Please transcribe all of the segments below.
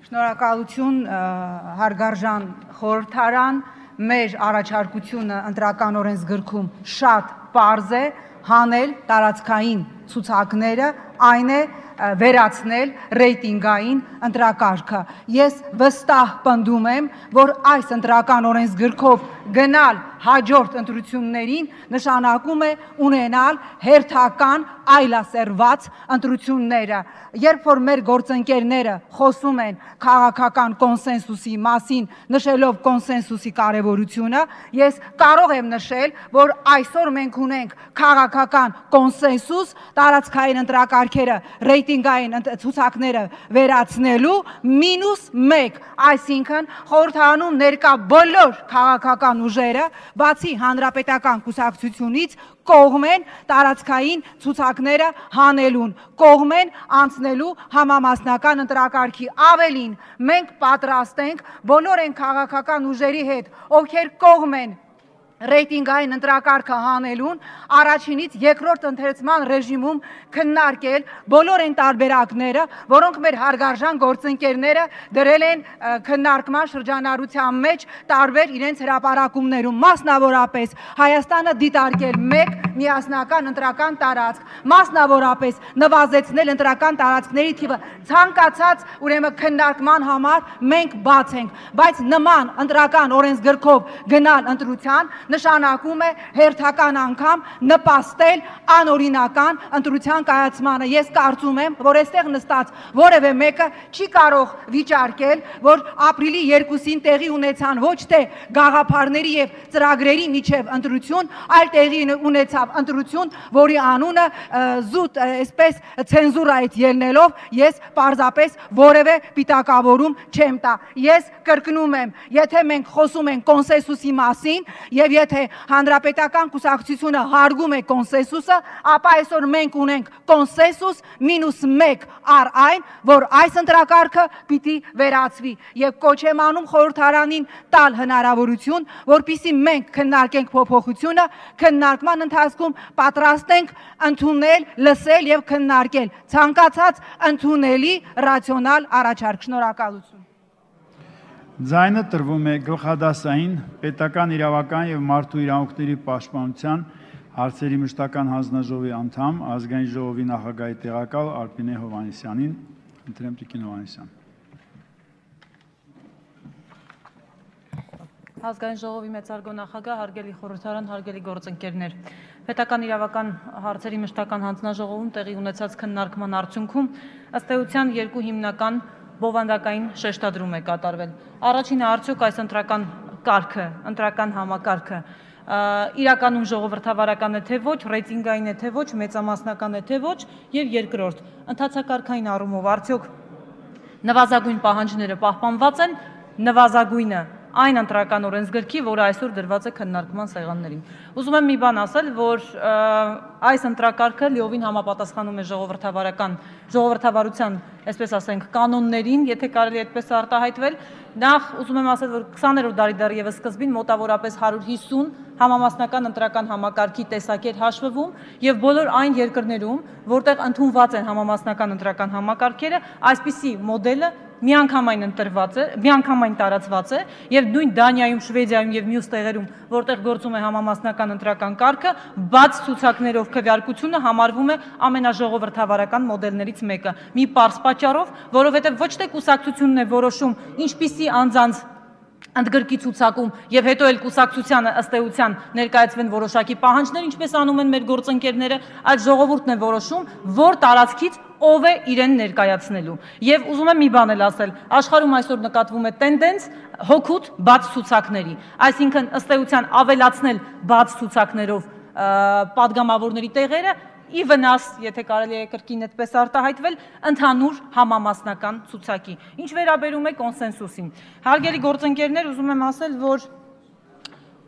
Շնորհակալություն հարգարժան խորհրդարան, մեր առաջարկությունը ընտրական օրենսգրքում շատ պարզ է, հանել տարածքային ցուցակները, այն է վերացնել ռեյտինգային ընտրակարգը։ Ես վստահ պնդում եմ, որ այս ընտրական օրենսգրքով գնալ հաջորդ ընտրություններին նշանակում է ունենալ հերթական այլասերված ընտրությունները։ Երբ որ մեր գործընկերները խոսում են քաղաքական կոնսենսուսի մասին, նշելով կոնսենսուսի կարևորությունը, ես կարող եմ նշել, որ այսօր մենք ունենք քաղաքական կոնսենսուս տարածքային ընտրակարգերը, ռեյտինգային ցուցակները վերացնելու -1, այսինքն խորհրդարանում ներկա բոլոր քաղաքական ուժերը, բացի հանրապետական կուսակցությունից, կողմ են տարածքային ցուցակները հանելուն, կողմ են անցնելու համամասնական ընտրակարգի։ Ավելին, մենք պատրաստ ենք բոլոր այն քաղաքական ուժերի հետ, ովքեր կողմ են ռեյտինգային ընտրակարգը հանելուն, առաջինից երկրորդ ընթերցման ռեժիմում քննարկել բոլոր այն տարբերակները, որոնք մեր հարգարժան գործընկերները դրել են քննարկման շրջանառության մեջ տարբեր իրենց հրապարակումներում, մասնավորապես Հայաստանը դիտարկել մեկ միասնական ընտրական տարածք, մասնավորապես նվազեցնել ընտրական տարածքների թիվը, ցանկացած ուրեմն քննարկման համար մենք բաց ենք, բայց նման ընտրական օրենսգրքով գնալ ընտրության նշանակում է հերթական անգամ նպաստել անօրինական ընտրության կայացմանը։ Ես կարծում եմ, որ այստեղ նստած որևէ մեկը չի կարող վիճարկել, որ ապրիլի 2-ին տեղի ունեցան ոչ թե գաղափարների եւ ծրագրերի միջև ընտրություն, այլ տեղի ունեցավ ընտրություն, որի անունը զուտ այսպես ցենզուրայից ելնելով ես պարզապես որևէ պիտակավորում չեմ տա։ Ես կրկնում եմ, եթե մենք խոսում ենք կոնսենսուսի մասին եւ եթե հանրապետական կուսակցությունը հարգում է կոնսենսուսը, ապա այսօր մենք ունենք կոնսենսուս -1 առ այն, որ այս ընտրակարգը պիտի վերացվի եւ կոչ եմ անում խորհրդարանին տալ հնարավորություն, որպեսզի մենք քննարկենք փոփոխությունը, քննարկման ընթացքում պատրաստ ենք ընդունել, լսել եւ քննարկել ցանկացած ընդունելի ռացիոնալ առաջարկ։ Շնորհակալություն։ Ձայնը տրվում է գլխադասային պետական իրավական եւ մարդու իրավունքների պաշտպանության հարցերի մշտական հանձնաժողովի անդամ, ազգային ժողովի նախագահի տեղակալ Արփինե Հովհաննիսյանին, ընտրեմ Տիկին Հովհաննիսյան։ Ազգային ժողովի մեծարգո նախագահ, հարգելի խորհրդարան, հարգելի գործընկերներ, պետական իրավական հարցերի մշտական հանձնաժողովում տեղի ունեցած քննարկման արդյունքում ըստ էության երկու հիմնական բովանդակային շեշտադրում է կատարվել։ Առաջինը արդյոք այս ընտրական կարգը, ընտրական համակարգը իրականում ժողովրդավարական է թե ոչ, ռեյտինգային է թե ոչ, մեծամասնական է թե ոչ, եւ երկրորդ, ընթացակարգային առումով արդյոք նվազագույն պահանջները պահպանված են, նվազագույնը այն ընտրական օրենսգրքի, որը այսօր դրված է քննարկման սեղաններին։ Ուզում եմ մի բան ասել, որ այս ընտրակարգը լիովին համապատասխանում է ժողովրդավարության, այսպես ասենք, կանոններին, եթե կարելի այդպես արտահայտվել, նախ ուզում եմ ասել, որ 20-րդ դարի դեռևս սկզբին մոտավորապես 150 համամասնական ընտրական համակարգի տեսակ էր հաշվվում եւ բոլոր այն երկրներում, որտեղ ընդունված են համամասնական ընտրական համակարգերը, այսպիսի մոդելը միանգամայն տարածված է եւ նույն Դանիայում, Շվեդիայում եւ մյուս տեղերում, որտեղ գործում է համամասնական ընտրական կարգը, բաց ցուցակներով քվեարկությունը համարվում է ամենաժողովրդավարական մոդելներից մեկը։ Մի պարզ պատճառով, որովհետեւ ոչ թե կուսակցությունն է որոշում, ինչպիսի անձանց ընդգրկի ցուցակում եւ հետո էլ կուսակցությանը ըստ էության ներկայացվեն որոշակի պահանջներ, ինչպես անում են մեր գործընկերները, այլ ժողովուրդն է որոշում, որ տարածքից ով է իրեն ներկայացնելու։ Եվ ուզում եմ մի բան էլ ասել, աշխարհում այսօր նկատվում է տենդենց հօգուտ բաց ցուցակների, այսինքն ըստ էության ավելացնել բաց ցուցակներով падգամավորների տեղերը ի վնաս, եթե կարելի է կրկին այդպես արտահայտվել, ընդհանուր համամասնական ցուցակի։ Ինչ վերաբերում է կոնսենսուսին։ Հարգելի գործընկերներ, ուզում եմ ասել, որ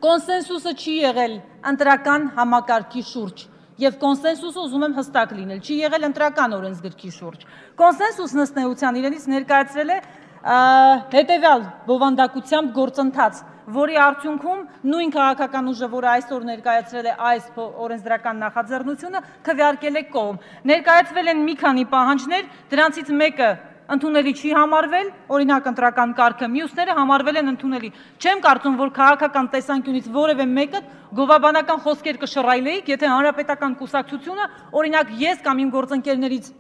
կոնսենսուսը չի եղել ընտրական համակարգի շուրջ եւ կոնսենսուսը ուզում եմ հստակ լինել, չի եղել ընտրական օրենսգրքի շուրջ։ Կոնսենսուսն ըստ էության իրենից ներկայացրել է հետեւյալ բովանդակությամբ գործընթաց, որի արդյունքում նույն քաղաքական ուժը, որը այսօր ներկայացրել է այս օրենսդրական նախաձեռնությունը, քվեարկել է կողմ։ Ներկայացվել են մի քանի պահանջներ, դրանցից մեկը ընդունելի չի համարվել, օրինակ ընտրական կարգը, մյուսները համարվել են ընդունելի։ Չեմ կարծում, որ քաղաքական տեսանկյունից որևէ մեկը գովաբանական խոսքեր կշռայլեիք, եթե հանրապետական կուսակցությունը, օրինակ ես կամ իմ գործընկերներից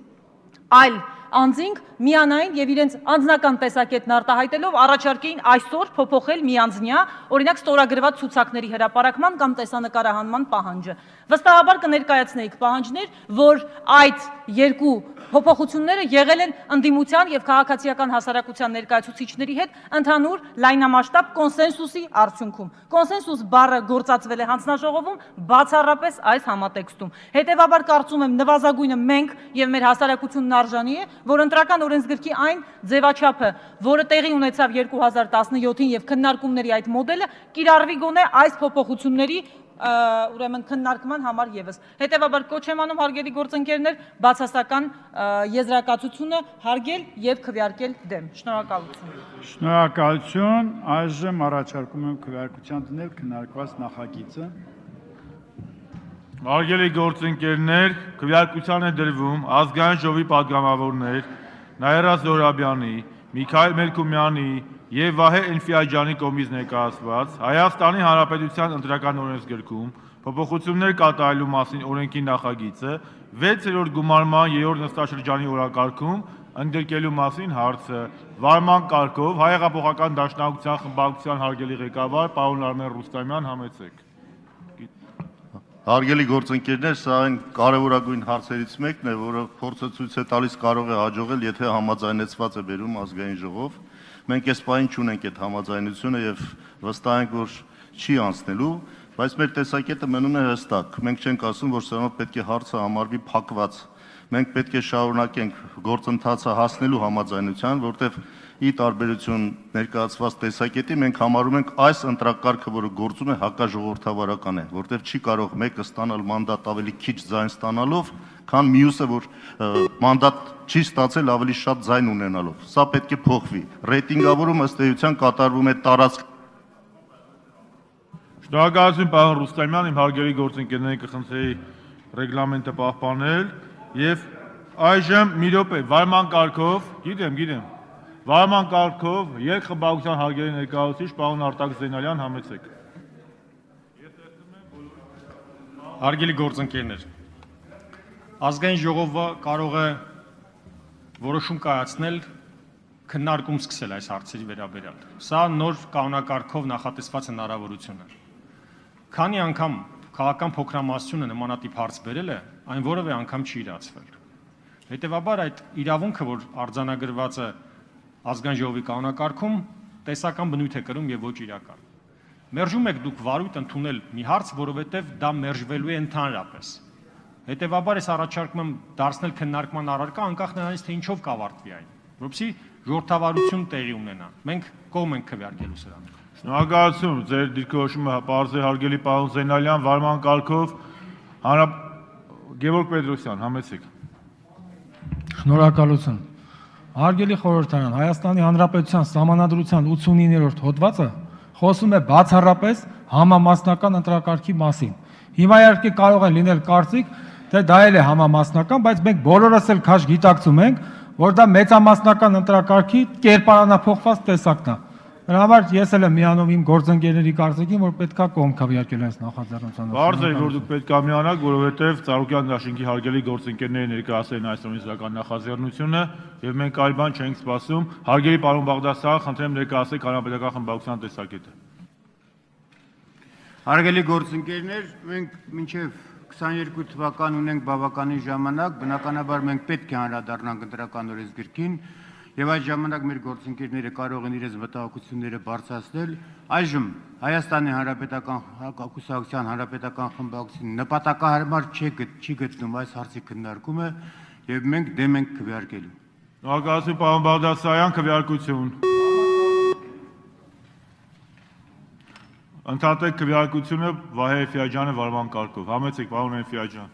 այլ անձինք միանային եւ իրենց անձնական տեսակետն արտահայտելով առաջարկեին այսօր փոփոխել միանձնյա, օրինակ ստորագրված ցուցակների հրապարակման կամ տեսանկարահանման պահանջը։ Վստահաբար կներկայացնեիք պահանջներ, որ այդ երկու փոփոխությունները եղել են ընդդիմության եւ քաղաքացիական հասարակության ներկայացուցիչների հետ ընդհանուր լայնամասշտաբ կոնսենսուսի արդյունքում։ Կոնսենսուս բառը գործածվել է հանձնաժողովում բացառապես այս համատեքստում։ Հետևաբար կարծում եմ նվազագույնը մենք եւ մեր հասարակությունն արժանի է, որ ընտրական օրենսգրքի այն ձևաչափը, որը տեղի ունեցավ 2017-ին եւ քննարկումների այդ մոդելը կիրառվի գոնե այս փոփոխությունների ուրեմն քննարկման համար եւս։ Հետևաբար կոչ եմ անում հարգելի գործընկերներ բացասական եզրակացությունը հարգել եւ քվեարկել դեմ։ Շնորհակալություն։ Շնորհակալություն, այժմ առաջարկում եմ քվեարկության դնել քննարկված նախագիծը։ Հարգելի գործընկերներ, քվեարկության է դրվում ազգային ժողովի պատգամավորներ Նաիրա Զոհրաբյանի, Միքայել Մելքումյանի եւ Վահե Էլֆիաջյանի կողմից ներկայացված Հայաստանի Հանրապետության ընտրական օրենսգրքում փոփոխություններ կատարելու մասին օրենքի նախագիծը 6-րդ գումարման 3-րդ նստաշրջանի օրակարգում ընդգրկելու մասին հարցը վարման կարգով Հայ հեղափոխական դաշնակցության խմբակցության հարգելի ղեկավար պարոն Արմեն Ռուստամյան համեցեք։ Հարգելի գործընկերներ, սա այն կարևորագույն հարցերից մեկն է, որը փորձը ցույց է տալիս կարող է հաջողել, եթե համաձայնեցված է բերում ազգային ժողով։ Մենք այս պահին չունենք այդ համաձայնությունը եւ վստահ ենք, որ չի անցնելու, բայց մեր տեսակետը մնում է հստակ։ Մենք չենք ասում, որ սրանով պետք է հարցը համարվի փակված։ Մենք պետք է շարունակենք գործընթացը հասնելու համաձայնության, որտեղ ի տարբերություն ներկայացված տեսակետի մենք համարում ենք այս ընտրակարգը, որը գործում է հակաժողովրդավարական է, որտեղ չի կարող մեկը ստանալ մանդատ ավելի քիչ ձայն ստանալով, քան մյուսը, որ մանդատ չի ստացել ավելի շատ ձայն ունենալով։ Սա պետք է փոխվի։ Ռեյտինգավորումը ըստ էության կատարվում է տարածք։ Շնորհակալություն պարոն Ռուստամյան, իմ հարգելի գործընկերներին կխնդրեի ռեգլամենտը պահպանել եւ այժմ մի րոպե վարման կարգով, գիտեմ Վարման կարգով երկխմբակցության հարգելի ներկայացուցիչ պարոն Արտակ Զենալյան համեցեք։ Հարգելի գործընկերներ, ազգային ժողովը կարող է որոշում կայացնել քննարկում սկսել այս հարցերի վերաբերյալ։ Սա նոր կանոնակարգով նախատեսված հնարավորություն է։ Քանի անգամ քաղաքական փոքրամասնությունը նմանատիպ հարց բերել է, այն որևէ անգամ չի իրացվել։ Հետևաբար այդ իրավունքը, որ արձանագրված է ազգային ժողովի կանոնակարգում տեսական բնույթ է կրում եւ ոչ իրական։ Մերժում եք դուք վարույթ ընդունել մի հարց, որովհետեւ դա մերժվելու է ընդհանրապես։ Հետևաբար ես առաջարկում եմ դարձնել քննարկման առարկա անկախ նրանից թե ինչով կավարտվի այն, որովհետեւ ժողովրդավարություն տեղի ունենա։ Մենք կողմ ենք քվեարկելու սրան։ Շնորհակալություն, ձեր դիրքորոշումը պարզ է հարգելի պարոն Զենալյան, վարման կարգով Գևորգ Պետրոսյան, համեցեք։ Շնորհակալություն։ Հարգելի խորհրդարան, Հայաստանի Հանրապետության Սահմանադրության 89-րդ հոդվածը խոսում է բացառապես համամասնական ընտրակարգի մասին։ Հիմա իհարկե կարող է լինել կարծիք, թե դա էլ է համամասնական, բայց մենք բոլորս էլ քաշ գիտակցում ենք, որ դա մեծամասնական ընտրակարգի կերպարանափոխված տեսակն է։ Դրա համար ես էլ եմ միանում իմ գործընկերների կարծիքին, որ պետքա կողմ քվեարկել այս նախաձեռնության։ Բարձր է, որ դուք պետք է միանաք, որովհետև Ծառուկյան դաշինքի հարգելի գործընկերները ներկայացրին այս օրենսդրական նախաձեռնությունը եւ մենք այլ բան չենք սպասում։ Հարգելի պարոն Բաղդասարյան, խնդրեմ ներկայացեք հանրապետական խմբակցության տեսակետը։ Հարգելի գործընկերներ, մենք մինչև 22 թվական ունենք բավականին ժամանակ, բնականաբար մենք պետք է անդրադառնանք ընտրական օրենսգրքին եւ այդ ժամանակ մեր գործընկերները կարող են իրենց մտահոգությունները բարձրացնել։ Այժմ Հայաստանի Հանրապետական կուսակցության հանրապետական խմբակցության նպատակահարմար չի գտնում այս հարցի քննարկումը եւ մենք դեմ ենք քվեարկելու։ Շնորհակալություն պարոն Բաղդասարյան, քվեարկություն։ Ընդհատեք քվեարկությունը Վահե Էլֆիաջյանը վարման կարգով։ Համեցեք պարոն Էլֆիաջյան։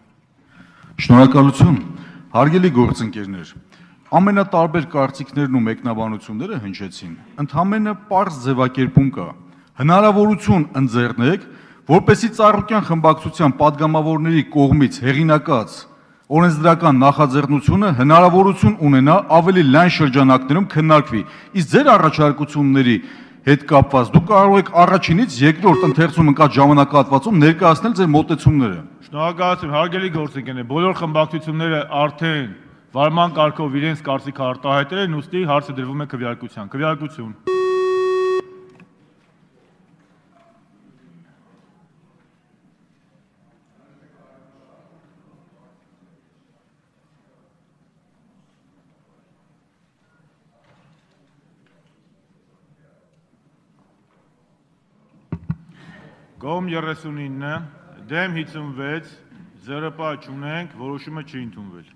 Շնորհակալություն, հարգելի գործընկերներ։ Ամենատարբեր կարծիքներն ու մեկնաբանությունները հնչեցին։ Ընդհանրապես պարզ ձևակերպում կա։ Հնարավորություն ընձեռնեք, որպեսզի Ծառուկյան խմբակցության падգամավորների կողմից հեղինակած օրենսդրական նախաձեռնությունը հնարավորություն ունենա ավելի լայն շրջանակներում քննարկվի։ Իսկ ձեր առաջարկությունների հետ կապված դուք կարող եք առաջինից երկրորդ ընթերցում ընկած ժամանակահատվածում ներկայացնել ձեր մոտեցումները։ Շնորհակալություն, հարգելի գործընկերներ, բոլոր խմբակցությունները արդեն վարման կարգով իրենց կարծիքը արտահայտել են, ուստի հարցը դրվում է քվեարկության։ Քվեարկություն։ Կողմ 39, դեմ 56, 0 պահ չունենք, որոշումը չի ընդունվել։